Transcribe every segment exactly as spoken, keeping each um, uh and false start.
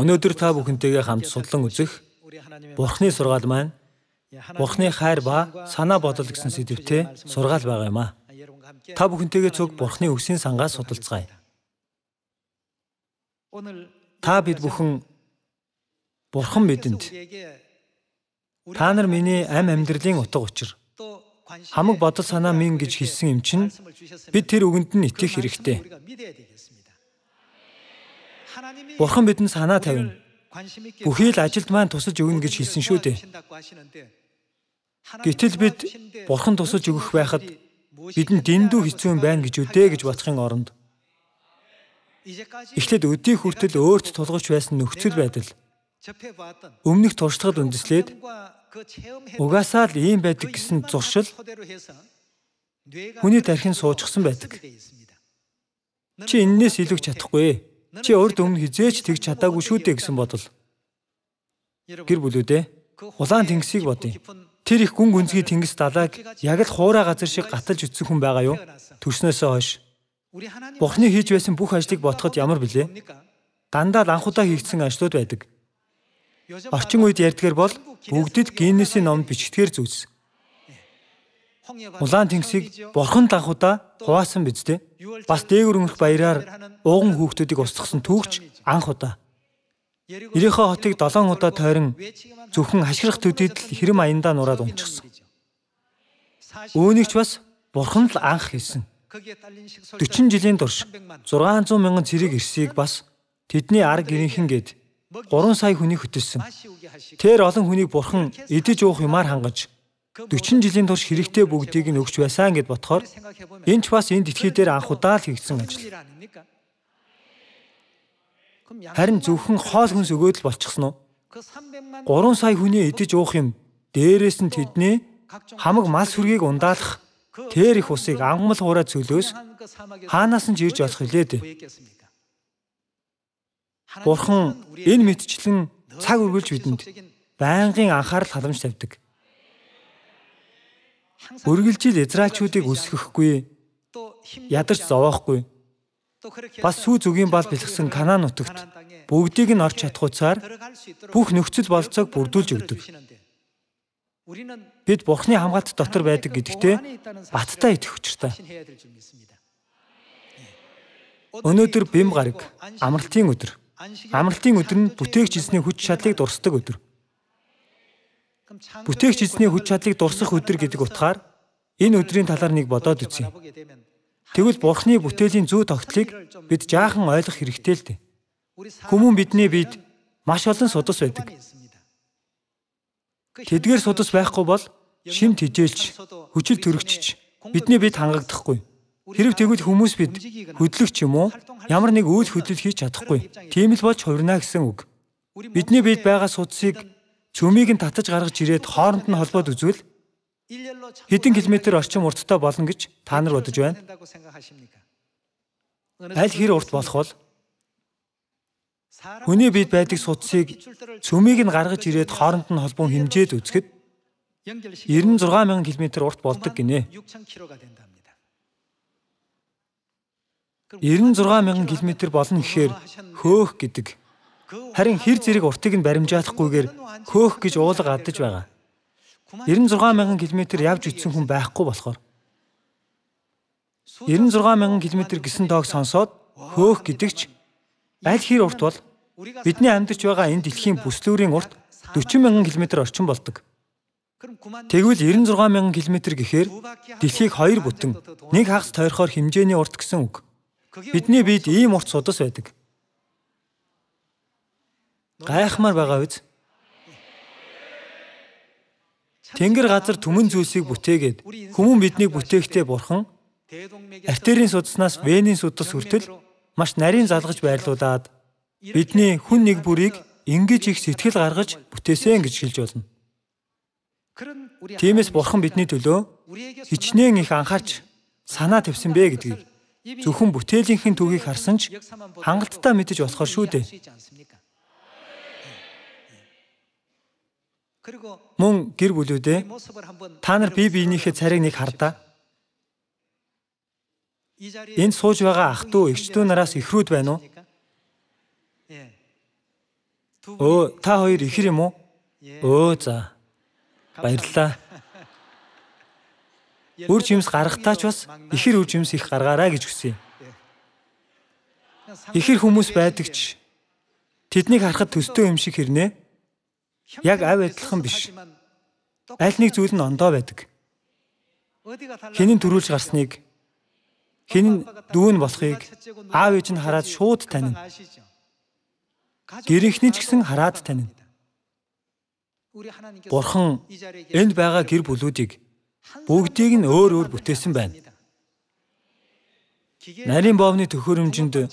Өнөөдөр та бүхэнтэйгээ хамт судлан үзэх Бурхны сургаал маань Бурхны хайр ба санаа бодол гэсэн сэдвтэй сургаал байгаа юм аа. Та бүхэнтэйгээ цуг Бурхны үгсийн сангаас судалцгаая. Та бид бүхэн Бурхан бидэнд та нар миний амь амьдралын утга учир хамаг бодол санаа минь гэж хэлсэн юм чинь бид тэр үгэнд нь итгэх хэрэгтэй. Бурхан бидэнд санаа тавина. Бүхий л ажилд маань тусалж өгнө гэж хэлсэн шүү дээ. Гэтэл бид Бурхан тусалж өгөх байхад бидэнд дэндүү хэцүү юм байна гэж үдээ гэж бодохын оронд эхлээд өдий хүртэл өөрт тулгарч байсан нөхцөл байдал өмнөх туршлагад үндэслээд угаасаа л ийм байдаг гэсэн зуршил хүний тархинд суучихсан байдаг. Чи эннээс илүү чадахгүй. Чи урд өмнө хизээч тэгж чадаагүй шүү дээ гэсэн бодол. Гэр бүлүүдээ улаан тэнгисийг бодъё. Тэр их гүн гүнзгий тэнгис далайг яг л хуурай газар шиг гаталж үтсэн хүн байгаа юу? Төрснөөсөө хойш Бурхны хийж байсан бүх ажлыг бодоход ямар билээ? Дандаа л анхудаа хийгдсэн ажлууд байдаг. Орчин үед ярьдгаар бол бүгдэд Гиннесийн номд бичигдгээр зүйлс. Улаан тэнгисийг Бурхан анхудаа хуваасан биз дээ. Бас дээгүр өнгөрөх баяраар ууган хүүхдүүдийг устгасан түүхч анх удаа. Ирихо хотыг долоон удаа тойрон зөвхөн хашгирах төдийд л хэрэм аяндаа нураад унчихсан. Үүнийг ч бас Бурхан л анх хийсэн. дөрвөн жилийн турш зургаан зуун мянган цэрэг ирсийг бас тэдний арга гэрийнхэн гээд гурван сая хүнийг хөтөлсөн. Тэр олон хүнийг Бурхан идэж уух юмар хангаж дөрвөн жилийн турш хэрэгтэй бүгдийг нь өгч байсан гэд бодохоор энэ ч бас энэ дэлхий дээр анх удаа л хийгдсэн ажил. Харин зөвхөн хоол хүнс өгөөд л болчихсон уу? гурван сая хүний идэж уух юм дээрээс нь тэдний хамаг мал сүргийг ундаалах тэр их усыг ангамл хуурай цөлөөс хаанаас нь жирж олох хэлээд. Бурхан энэ мэдчлэн цаг үргэлж бидэнд байнгын анхаарал халамж тавьдаг. Үргэлжил Израильчүүдийг үсгэхгүй, ядарч зовоохгүй, бас сүү зүгийн бал бэлгсэн Канаан нутагт бүгдийг нь орч чадах утсаар бүх нөхцөл болцоог бүрдүүлж өгдөг. Бид Бурхны хамгаалт дотор байдаг гэдэгтээ баттай итгэх учиртай. Өнөөдөр бэм гараг, амралтын өдөр. Амралтын өдөр нь бүтээгч эзний хүч чадлыг дурсдаг өдөр. Бүтээгч эзний хүч чадлыг дурсах өдөр гэдэг утгаар энэ өдрийн талаар нэг бодоод үзье. Тэгвэл Бурхны бүтээлийн зүй тогтолыг бид жаахан ойлгох хэрэгтэй л дээ. Хүмүүн бидний бид маш олон судас байдаг. Тэдгээр судас байхгүй бол шимт хижээлж, хүчил төрөгчж бидний бид хангагдахгүй. Хэрв тэгвэл хүмүүс бид хөдлөгч юм уу? Ямар нэг үйл хөдлөл хийж чадахгүй. Тийм л болж хувирна гэсэн үг. Бидний бид байгаа судсыг цөмийг нь татаж гаргаж ирээд хооронд нь холбоод үзвэл хэдэн километр орчим урттай болно гэж та нар бодож байна. Аль хэр урт болох бол хүний бид байдаг судсыг цөмийг нь гаргаж ирээд хооронд нь холбон хэмжээд үзэхэд девяносто шесть мянган километр урт болдог гинэ. девяносто шесть мянган километр болно гэхээр хөөх гэдэг. Харин хэр зэрэг уртыг нь баримжаалахгүйгээр хөөх гэж уулга адаж байгаа. девяносто шесть мянган километр явж үтсэн хүн байхгүй болохоор девяносто шесть мянган километр гэсэн тоог сонсоод хөөх гэдэгч аль хэр урт бол бидний амьдарч байгаа энэ дэлхийн бүслүүрийн урт дөрвөн мянган километр орчим болдог. Тэгвэл девяносто шесть мянган километр гэхээр дэлхийг хоёр бүтэн нэг хагас тойрохоор хэмжээний урт гэсэн үг. Бидний бид ийм урт судас байдаг. Гайхмаар байгаа биз? Тэнгэр газар түмэн зүйлсийг бүтээгээд хүмүүн биднийг бүтээхдээ Бурхан артерийн судаснаас венийн судас хүртэл маш нарийн залгаж байрлуулад бидний хүн нэг бүрийг ингэж их сэтгэл гаргаж бүтээсэн гэж хэлж болно. Тиймээс Бурхан бидний төлөө хичнээн их анхаарч санаа тавьсан бэ гэдгийг зөвхөн бүтээлийнхэн түүхийг харсан ч хангалттай мэдэж болохоор шүү дээ. Мөн гэр бүлүүдээ та нар бие биенийхээ царийг нэг хардаа. Энд сууж байгаа ах дүү, эгч дүү нараас ихрүүд байна уу? Өө, та хоёр ихэр юм уу? Өө, за. Баярлалаа. Үр жимс гаргахтаа ч бас ихэр үр жимс их гаргаарай гэж хүсье. Ихэр хүмүүс байдаг ч тэднийг харахад төстэй юм шиг хэрнээ. Яг авь адилхан биш. Аль нэг зүйл нь ондоо байдаг. Хинэн төрүүлж гарсныг, хинэн дүүн болохыг аав ээж нь хараад шууд танина. Гэрийнхний ч гэсэн хараад танина. Бурхан энд байгаа гэр бүлүүдийг бүгдийг нь өөр өөр бүтээсэн байна. Нарийн боовны төхөөрөмжөнд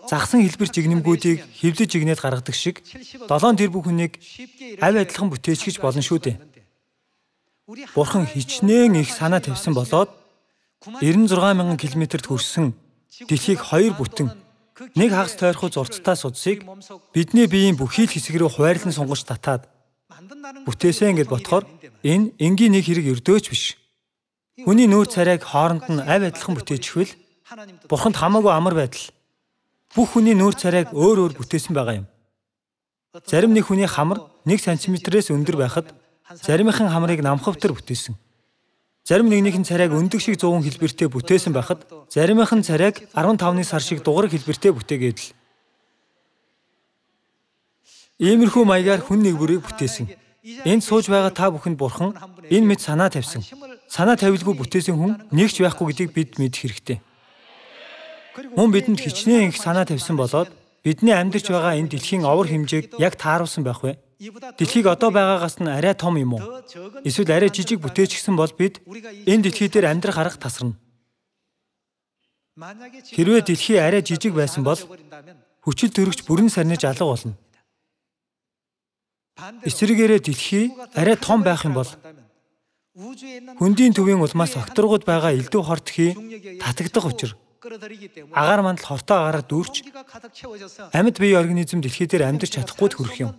загсан хэлбэр жигнэмгүүдийг хэвлэж жигнээд гаргадаг шиг долоон тэр бүх хүнийг авь адилхан бүтээчихэж болно шүү дээ. Бурхан хичнээн их санаа тавьсан болоод девяносто шесть мянган километрт хүрсэн дэлхийг хоёр бүтэн нэг хагас тойрхоо зурцтай судсыг бидний биеийн бүхий л хэсэг рүү хуваарлан сунгаж татаад бүтээсэн гэд бодохоор энэ энгийн нэг хэрэг өрдөөч биш. Хүний нүүр царайг хооронд нь авь адилхан бүтээчихвэл Бурханд хамаагүй амар байдал. Бүх хүний нүүр царайг өөр өөр бүтээсэн байгаа юм. Зарим нэг хүний хамар нэг сантиметрээс өндөр байхад заримынхын хамрыг намхавтар бүтээсэн. Зарим нэгнийхэн царайг өндөг шиг зүүн хэлбэртэй бүтээсэн байхад заримынхын царайг арван тавны сар шиг дугар хэлбэртэй бүтээгээд л. Иймэрхүү маягаар хүн нэгбүрийг бүтээсэн. Энд сууж байгаа та бүхэнд Бурхан энэ мэд санаа тавьсан. Санаа тавилгүй бүтээсэн хүн нэгч байхгүй гэдгийг бид мэдэх хэрэгтэй. Мөн бидэнд хичнээн их санаа тавьсан болоод бидний амьдарч байгаа энэ дэлхийн овор хэмжээг яг тааруулсан байх вэ? Дэлхийг одоо байгаагаас нь арай том юм уу? Эсвэл арай жижиг бүтээчихсэн бол бид энэ дэлхий дээр амьдрах арга тасарна. Хэрвээ дэлхий арай жижиг байсан бол хүчил төрөгч бүрэн сарниж алга болно. Эсвэргээрээ дэлхий арай том байх юм бол хөндийн төвийн улмаас огторгууд байгаа элдв хортхий татагдах учир агаар мандал хортоо агаараар дүүрч амьд бие организм дэлхий дээр амьдарч чадахгүй хүрэх юм.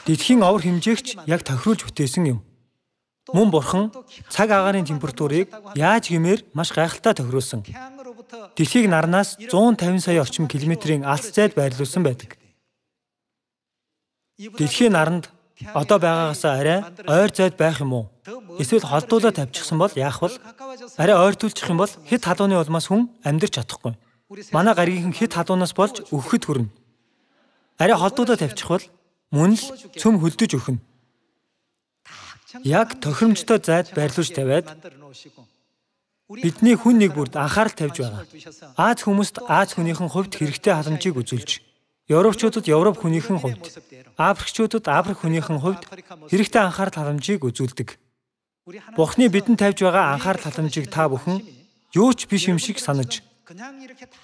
Дэлхийн овор хэмжээгч яг тохируулж бүтээсэн юм. Мөн Бурхан цаг агаарын температурыг яаж гэмээр маш гайхалтай тохируулсан. Дэлхийг нарнаас зуун тавин сая орчим километрийн алс зайд байрлуулсан байдаг. Дэлхийн наранд одоо байгаагаас арай ойр зайд байх юм уу? Эсвэл холдуулаад тавьчихсан бол яах вэ? Арай ойртуулчих юм бол хэд халууны улмаас хүн амьдарч чадахгүй. Манай гаригийн хэд халуунаас болж өгөхөд хүрнэ. Арай холдуулаад тавьчихвал мөн л цөм хөлдөж өгнө. Яг тохиромжтой зайд байрлуулж тавиад бидний хүн нэг бүрд анхаарал тавьж байгаа. Аз хүмүүст Аз хүнийхэн хувьд хэрэгтэй халамжийг үзүүлж, Европчуудад Европ хүнийхэн хувьд, Африкчуудад Африк хүнийхэн хувьд хэрэгтэй анхаарал халамжийг үзүүлдэг. Бурхны бидэнд тавьж байгаа анхаарал халамжийг та бүхэн юу ч биш юм шиг санаж,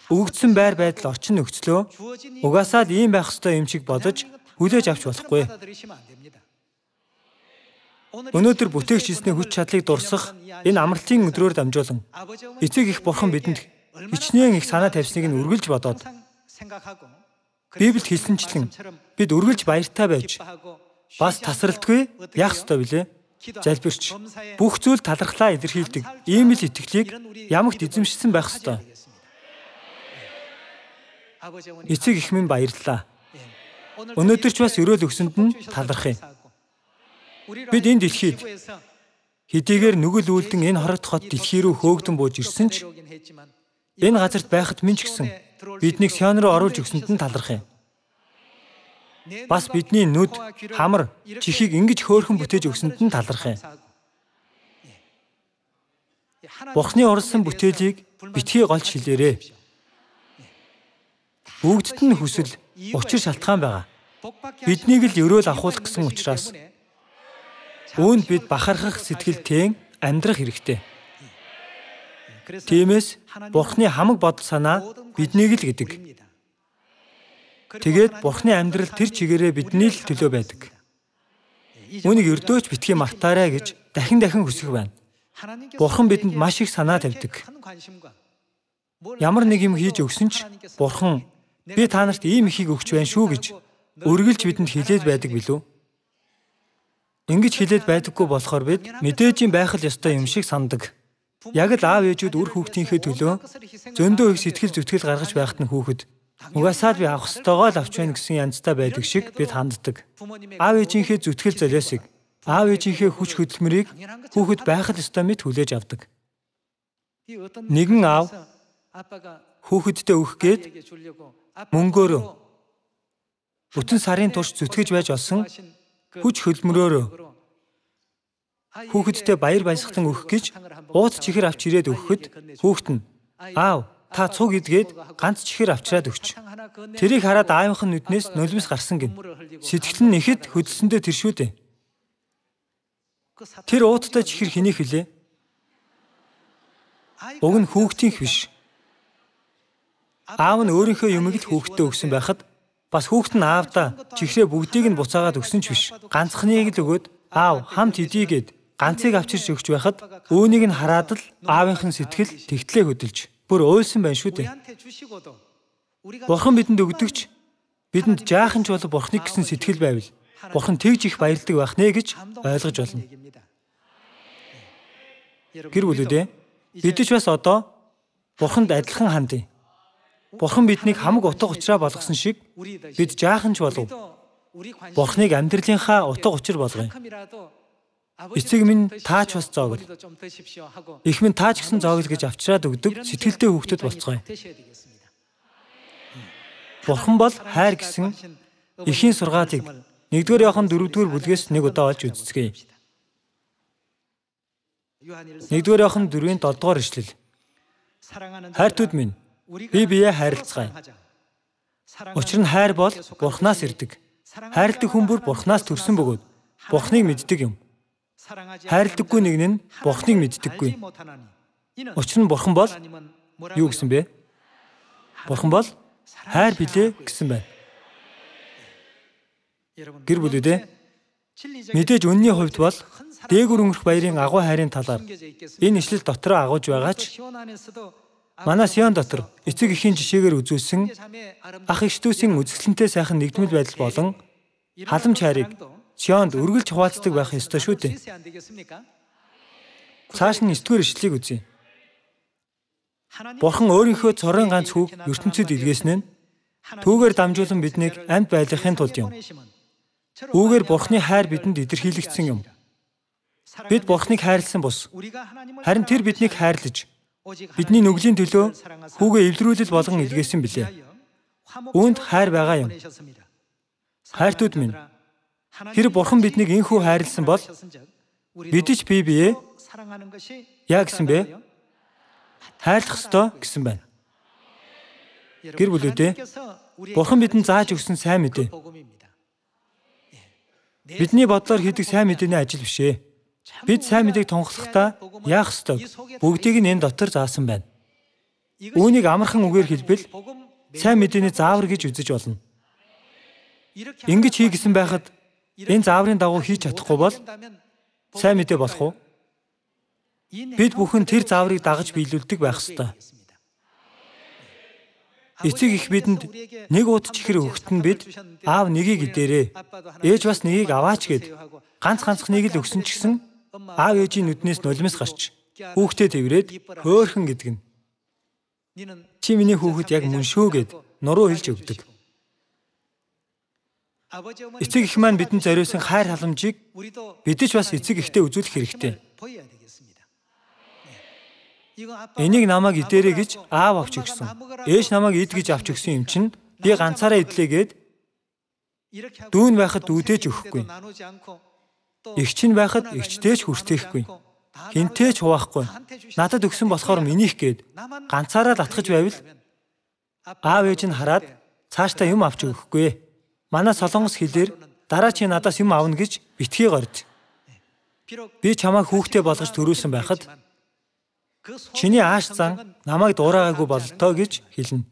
өгөгдсөн байр байдал орчин нөхцлөө угаасаа л ийм байх ёстой юм шиг бодож хүлээж авч болохгүй. Өнөөдөр бүтээгч эзний хүч чадлыг дурсах энэ амралтын өдрөөр дамжуулан эцэг их Бурхан бидэнд хичнээн их санаа тавьсныг нь үргэлж бодоод Библиэд хэлсэнчлэн бид үргэлж баяртай байж бас тасралтгүй яах ёстой вүлээ? Залбирч бүх зүйл талархлаа илэрхийлдэг ийм л итгэлийг ямагт эзэмшсэн байх ёстой. Эцэг их минь баярлалаа. Өнөөдөр ч бас өрөөл өгсөнд нь талархъя. Бид энэ дэлхийд хэдийгээр нүгэл үйлдэн энэ хорогт хот дэлхий рүү хөөгдөн бууж ирсэн ч энэ газарт байхад минь ч гэсэн биднийг Сион руу оруулж өгсөнд нь талархъя. Бас бидний нүд, хамар, чихийг ингэж хөөрхөн бүтээж өгсөнд нь талархъя. Бурхны уралсан бүтээлийг битгий голж хэлээрэй. Бүгдд нь хүсэл, учир шалтгаан байгаа. Биднийг л өрөөл авахулах гэсэн учраас үүнд бид бахархах сэтгэлтэй амьдрах хэрэгтэй. Тиймээс Бурхны хамаг бодол санаа биднийг л гэдэг. Тэгээд Бурхны амьдрал тэр чигээрээ бидний л төлөө байдаг. Үүнийг өрдөөч битгий мартаарай гэж дахин дахин хүсэх байна. Бурхан бидэнд маш их санаа тавьдаг. Ямар нэг юм хийж өгсөн ч Бурхан би та нарт ийм ихийг өгч байна шүү гэж үргэлж бидэнд хэлээд байдаг билүү? Ингэж хэлээд байдаггүй болохоор бид мэдээж юм байх л ёстой юм шиг сандаг. Яг л аав ээжүүд үр хүүхдийнхээ төлөө зөндөө их сэтгэл зүтгэл гаргаж байхад нь хүүхэд Угаасаа би авах ёстойгоо л авч байна гэсэн янзтай байдаг шиг бид ханддаг. Аав ээжийнхээ зүтгэл золиосыг, аав ээжийнхээ хүч хөдөлмөрийг хүүхэд байхад ёстой мэт хүлээж авдаг. Нэгэн аав хүүхэдтэй өгөх гээд мөнгөөрөө бүтэн сарын турш зүтгэж байж олсон хүч хөдөлмөрөөрөө хүүхэдтэй баяр баясгалан өгөх гэж ууц чихэр авч ирээд өгөхөд хүүхэд нь аав та цуг идгээд ганц чихэр авчраад өгч. Тэрийг хараад аавынх нь нүднээс нулимс гарсан гин. Сэтгэл нь ихэд хөдөлсөндөө тэр шүү дээ. Тэр ууттай чихэр хэнийх вүлээ? Уг нь хүүхдийнх биш. Аав нь өөрийнхөө юмыг л хүүхдтэй өгсөн байхад бас хүүхэд нь аавдаа чихрээ бүгдийг нь буцаагаад өгсөн ч биш. Ганцхныг л өгөөд аав хамт идийгээд ганцыг авчирч өгч байхад үүнийг нь хараад л аавынх нь сэтгэл тэгтлээ хөдөлж бүр уйлсан байна шүү дээ. Бурхан бидэнд өгдөгч бидэнд жаахан ч бол Бурханыг гэсэн сэтгэл байвал Бурхан тэгж их баярлдаг байх нэ гэж ойлгож болно. Гэр бүлүүдээ бид ч бас одоо Бурханд адилхан хандъя. Бурхан биднийг хамаг утга учраа болгосон шиг бид жаахан ч болов Бурханыг амьдралынхаа утга учир болгоё. Эцэг минь таач бас зоогл. Их минь таач гэсэн зоогл гэж авчраад өгдөг сэтгэлтэй хүүхдэд болцгоё. Бурхан бол хайр гэсэн эхийн сургаалыг нэгдүгээр Иохан дөрөвдүгээр бүлгээс нэг удаа олж үзцгээе. нэгдүгээр Иохан дөрвийн долдугаар ишлэл. Хайртууд минь, бие биеэ хайрлацгаая. Учир нь хайр бол Бурханаас ирдэг. Хайрладаг хүн бүр Бурханаас төрсөн бөгөөд Бурханыг мэддэг юм. Хайрладаггүй нэг нь Бурханыг мэддэггүй. Учир нь Бурхан бол юу гэсэн бэ? Бурхан бол хайр билээ гэсэн байна. Гэр бүлүүдээ мэдээж үнний хувьд бол дээгүр өнгөрөх баярын агуу хайрын талаар энэ ишлэл дотроо агуулж байгаа ч манай Сион дотор эцэг эхийн жишээгээр үзүүлсэн ах эгч дүүсийн үзэсгэлэнтэй сайхан нэгдмэл байдал болон халамж хайрыг Сионд үргэлж хуваалцдаг байх ёстой шүү дээ. Цааш нь нэгдүгээр ишлэлийг үзье. Бурхан өөрийнхөө цорын ганц хүүг ертөнцид илгээсэн нь түүгээр дамжуулан биднийг амьд байлгахын тулд юм. Үүгээр Бурханы хайр бидэнд илэрхийлэгдсэн юм. Бид Бурханыг хайрлсан бус. Харин тэр биднийг хайрлаж бидний нүглийн төлөө хүүгээ эвлэрүүлэл болгон илгээсэн билээ. Үүнд хайр байгаа юм. Хайртууд минь, тэр Бурхан биднийг инхүү хайрлсан бол бид ч бие биеэ яа гэсэн бэ? Хайрлах ёстой гэсэн байна. Гэр бүлүүдээ Бурхан бидэнд зааж өгсөн сайн мэдээ. Бидний бодлоор хийдэг сайн мэдээний ажил биш ээ. Бид сайн мэдээг тунхаглахдаа яах ёстой? Бүгдийг нь энэ дотор заасан байна. Үүнийг амархан үгээр хэлбэл сайн мэдээний заавар гэж үзэж болно. Ингэж хий гэсэн байхад энэ зааврын дагуу хийж чадахгүй бол сайн мэдээ болох уу? Бид бүхэн тэр зааврыг дагаж биелүүлдэг байх ёстой. Эцэг их бидэнд нэг ууд чихэр өгөхт нь бид аав нэгийг идээрээ, ээж бас нэгийг аваач гэд ганц ганцхныг л өгсөн ч гэсэн аав ээжийн нүднээс нулимс гарч хүүхдээ тэврээд хөөхөн гэдэг нь. Чи миний хүүхэд яг мөн шүү гэд нуруу хэлж өгдөг. Эцэг их маань бидэнд зориулсан хайр халамжийг бид ч бас эцэг ихтэй үзүүлэх хэрэгтэй. Энийг намайг идээрэй гэж аав авч өгсөн. Ээж намайг ид гэж авч өгсөн юм чинь би ганцаараа идлээ гэд дүүн байхад дүүдээж өгөхгүй. Эгч нь байхад эгчтэй ч хүртээхгүй. Хинтээ ч хуваахгүй. Надад өгсөн болохоор минийх гэд ганцаараа л атгаж байвал аав ээж нь хараад цаашдаа юм авч өгөхгүй. Манай солонгос хэлээр дараа чи надаас юм авна гэж битгий горж. Би чамайг хүүхдээ болгож төрүүлсэн байхад чиний ааш зан намайг дуурайгаагүй бололтоо гэж хэлнэ.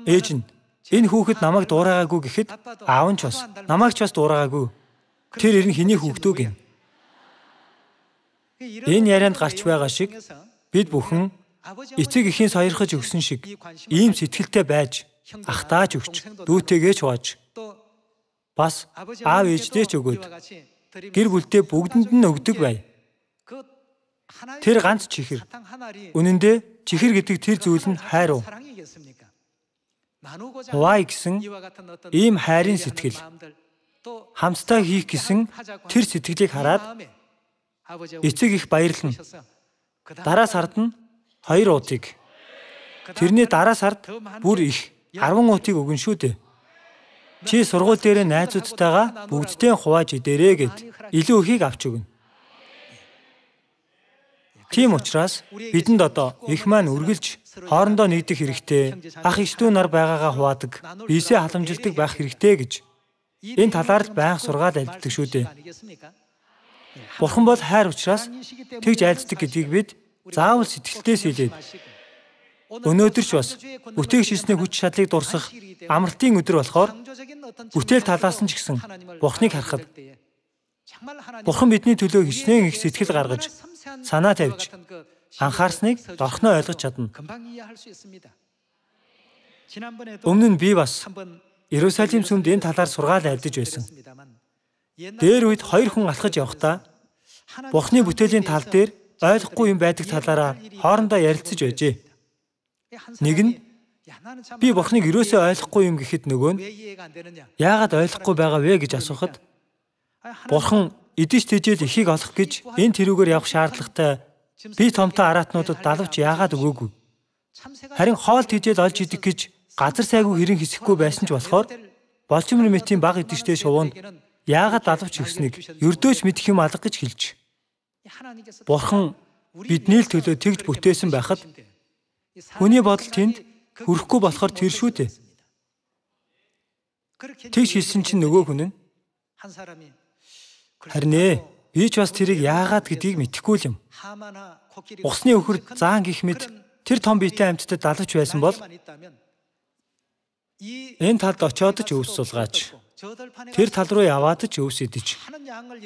Ээж нь энэ хүүхэд намайг дуурайгаагүй гэхэд аав нь ч бас намайг ч бас дуурайгаагүй. Тэр ирэн хэний хүүхдөө гин. Энэ ярианд гарч байгаа шиг бид бүхэн эцэг эхийн сойрхож өгсөн шиг ийм сэтгэлтэй байж ахтааж өгч дүүтэйгээ ч хувааж бас аав ээждээ ч өгөөд гэр бүлдээ бүгдэнд нь өгдөг бай. Тэр ганц чихэр. Үнэн дээр чихэр гэдэг тэр зүйл нь хайр уу? Хуваа гэсэн ийм хайрын сэтгэл, хамтдаа хийх гэсэн тэр сэтгэлийг хараад эцэг их баярлана. Дараа сард нь хоёр уутыг, тэрний дараа сард бүр их арван уутыг өгнө шүү дээ. Чи сургууль дээр найзуудтайгаа бүгдтэй хувааж идээрэй гэд илүү ихийг авч өгнө. Тийм учраас бидэнд одоо их маань үргэлж хоорондоо нэгдэх хэрэгтэй, ах эх дүү нар байгаагаа хуваадаг, биесээ халамжилдаг байх хэрэгтэй гэж энэ талаар л байнга сургаал айлддаг шүү дээ. Бурхан бол хайр учраас тэгж айлддаг гэдгийг бид заавал сэтгэлдээс хэлээд өнөөдөр ч бас бүтээгч хийсний хүч чадлыг дурсах амралтын өдөр болохоор бүтээл талаас нь ч гэсэн Бурханыг харахад Бурхан бидний төлөө хичнээн их сэтгэл гаргаж, санаа тавьж, анхаарсныг дорхноо ойлгож чадна. Өмнө нь би бас Иерусалим сүмд энэ талаар сургаал айлдаж байсан. Дээр үед хоёр хүн алхаж явахдаа Бурханы бүтээлийн тал дээр ойлгохгүй юм байдаг талаараа хоорондоо ярилцаж байжээ. Нэг нь би Бурханыг ерөөсөө ойлгохгүй юм гэхэд нөгөө нь яагаад ойлгохгүй байгаа вэ гэж асуухад Бурхан эдэж тэжээл ихийг олох гэж энэ тэрүүгээр явах шаардлагатай би томтой араатнуудад далавч яагаад өгөөгүй. Харин хоол тэжээл олж идэх гэж газар сайгүй хэрэн хэсэхгүй байсан ч болохоор Болчмор мэтийн баг эдэжтэй шувуунд яагаад далавч өгснийг ердөөч мэдэх юм алга гэж хэлж. Бурхан бидний л төлөө тэгж бүтээсэн байхад хүний бодол тэнд хүрэхгүй болохоор тэр шүү дээ. Тэгж хэлсэн чинь нөгөө хүн нь харин ээ, би ч бас тэрийг яагаад гэдгийг мэдэхгүй юм. Усны өхөр заан гих мэд тэр том биетэй амьтдад далавч байсан бол энэ талд очиод ч өвс сулгаач. Тэр тал руу яваад ч өвс идэж.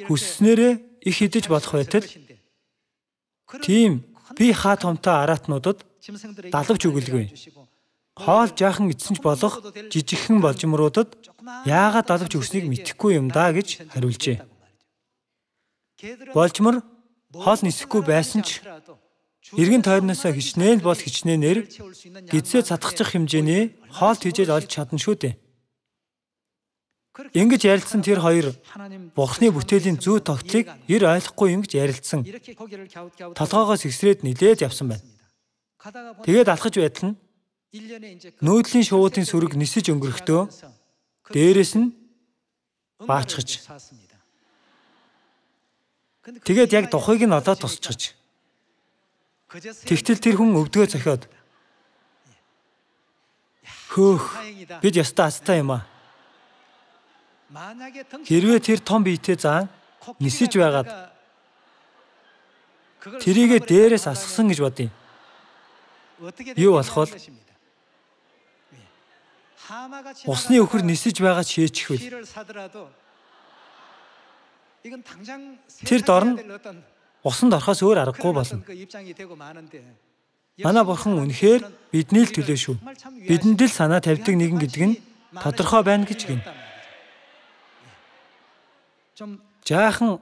Хүсснээрээ их идэж болох байтал тийм би хаа томтой араатнуудад далавч өгөлгүй. Хоол жаахан идсэн ч болох жижигхэн болжмруудад яагаад далавч өгснийг мэдэхгүй юм да гэж хариулжээ. Болжмор хоол нисэхгүй байсан ч эргэн тойрноосоо хичнээн бол хичнээнээр гидсээ цатгачих хэмжээний хоол тэжээл олж чадна шүү дээ. Ингэж ярилцсан тэр хоёр Бурханы бүтээлийн зүй тогтолцоог ер ойлгохгүй юм гэж ярилцсан. Толгоогоос ихсрээд нилээд явсан байна. Тэгээд алхаж байтал нь нүүдлийн шувуудын сүрэг нисэж өнгөрөхдөө дээрэс нь баачгаж. Тэгээд яг духыг нь олоод тусчиж. Тэгтэл тэр хүн өвдгөө зохиод. Хөөх, бид ястаа астай юм аа. Хэрвээ тэр том биетэй заан нисэж байгаад тэрийгэ дээрээс асгасан гэж бодъё. Юу болох вэ? Усны өхөр нисэж байгаа шээчихвэл тэр дор нь усанд орохоос өөр аргагүй болно. Манай Бурхан үнэхээр бидний л төлөө шүү. Бидэнд л санаа тавьдаг нэгэн гэдэг нь тодорхой байна гэж гин. Жаахан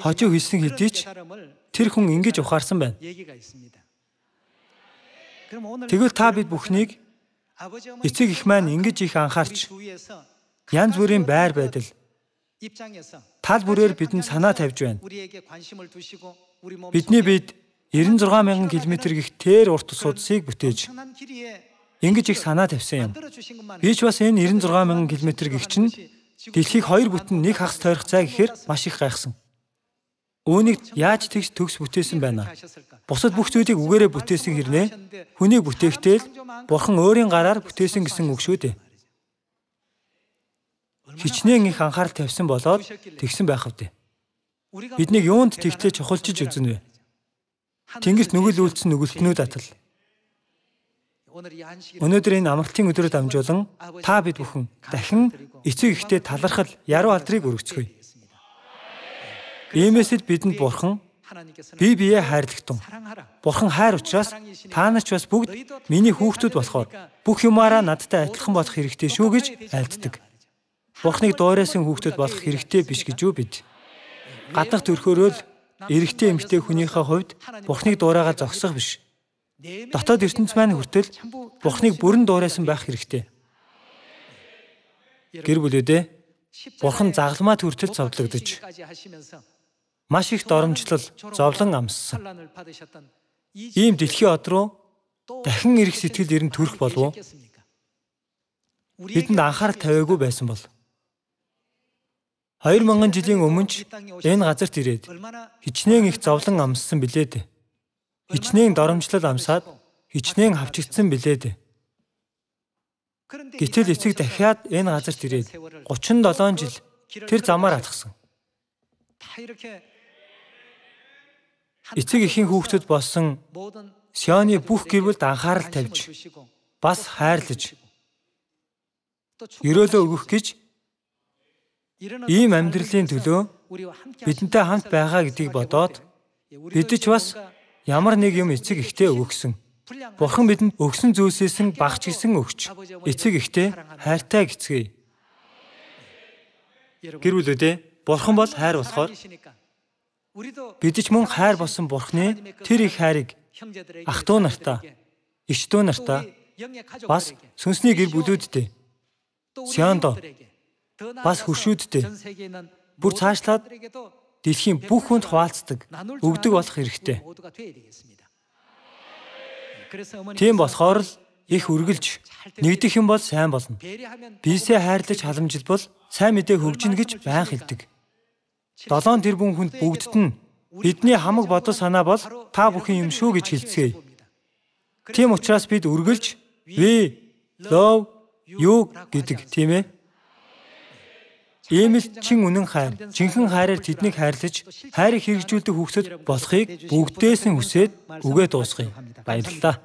хожуу хийсэн хэдий ч тэр хүн ингэж ухаарсан байна. Тэгвэл та бид бүхнийг эцэг их маань ингэж их анхаарч янз бүрийн байр байдал тал бүрээр бидэнд санаа тавьж байна. Бидний бид девяносто шесть мянган километр гих тэр урт судсыг бүтээж ингэж их санаа тавьсан юм. Би ч бас энэ девяносто шесть мянган километр гих чинь дэлхийг хоёр бүтэн нэг хагас тойрох цай гэхээр маш их гайхсан. Үүнийг яаж тэгж төгс бүтээсэн байна? Бусад бүх зүйлийг үгээрээ бүтээсэн хэрнээ хүнийг бүтээхдээ л Бурхан өөрийн гараар бүтээсэн гэсэн үг шүү дээ. Хичнээн их анхаарал тавьсан болоод тэгсэн байх вдэ. Биднийг юунд тэгтлээ чухалчиж үзнэ вэ? Тэнгэрт нүгэл үйлдсэн нүгэлтнүүд атал. Өнөөдөр энэ амралтын өдрөд дамжуулан та бид бүхэн дахин эцэг ихтэй талархал яруу алдрыг өргөцгөөе. Иймээс л бидэнд Бурхан бие биеэ хайрлагтун. Бурхан хайр учраас та нар ч бас бүгд миний хүүхдүүд болохоор бүх юмараа надтай адилхан болох хэрэгтэй шүү гэж айлддаг. Бурханыг дуурайсан хүүхдүүд болох хэрэгтэй биш гэж юу бид? Гаднах төрхөөрөө л эрэгтэй эмэгтэй хүнийхээ хувьд Бурханыг дуурайгаа зогсох биш. дотоод ертөнц маань хүртэл Бурхныг бүрэн дуурайсан байх хэрэгтэй. Гэр бүлүүдээ Бурхан загламаа хүртэл зовлогдож, маш их доромжлол, зовлон амссан. Ийм дэлхийн од руу дахин ирэх сэтгэл эрен төрөх болов уу? Бидэнд анхаарал тавиагүй байсан бол Хоёр мянган жилийн өмнө ч энэ газарт ирээд хичнээн их зовлон амссан билээ дээ. Хичнээн доромжлол амсаад хичнээн хавчигдсан билээ дээ. Гэтэл эцэг дахиад энэ газарт ирээд гучин долоон жил тэр замаар алхсан. Эцэг эхийн хүүхдэд болсон Сионы бүх гэр бүлд анхаарал тавьж, бас хайрлаж, өрөөлөө өгөх гэж ийм амьдралын төлөө бидэнтэй хамт байгаа гэдгийг бодоод бид ч бас ямар нэг юм эцэг эхтэй өгсөн. Бурхан бидэнд өгсөн зүйлсээс нь багч гисэн өгч, эцэг эхтэй хайртай гэцгээе. Гэр бүлүүдээ Бурхан бол хайр болохоор бид ч мөн хайр болсон Бурханы тэр их хайрыг ах дүү нартаа, ич дүү нартаа, бас сүнсний гэр бүлүүддээ, Сиондоо, бас хөршүүддээ бүр цаашлаад дэлхийн бүх хүнд хуваалцдаг, өгдөг болох хэрэгтэй. Тийм болохоор л их үргэлж нэгдэх юм бол сайн болно. Бийсээ хайрлаж халамжилбал сайн мэдээ хөгжинэ гэж байн хэлдэг. Долоон тэрбум хүнд бүгдд нь бидний хамаг бодол санаа бол та бүхэн юм шүү гэж хэлцгээе. Тийм учраас бид үргэлж we love you гэдэг тийм ээ. Ийм л чин үнэн хайр, жинхэнэ хайраар тэднийг хайрлаж, хайрыг хэрэгжүүлдэг хүүхдүүд болохыг бүгдээс нь хүсээд үгээ дуусгая. Баярлалаа.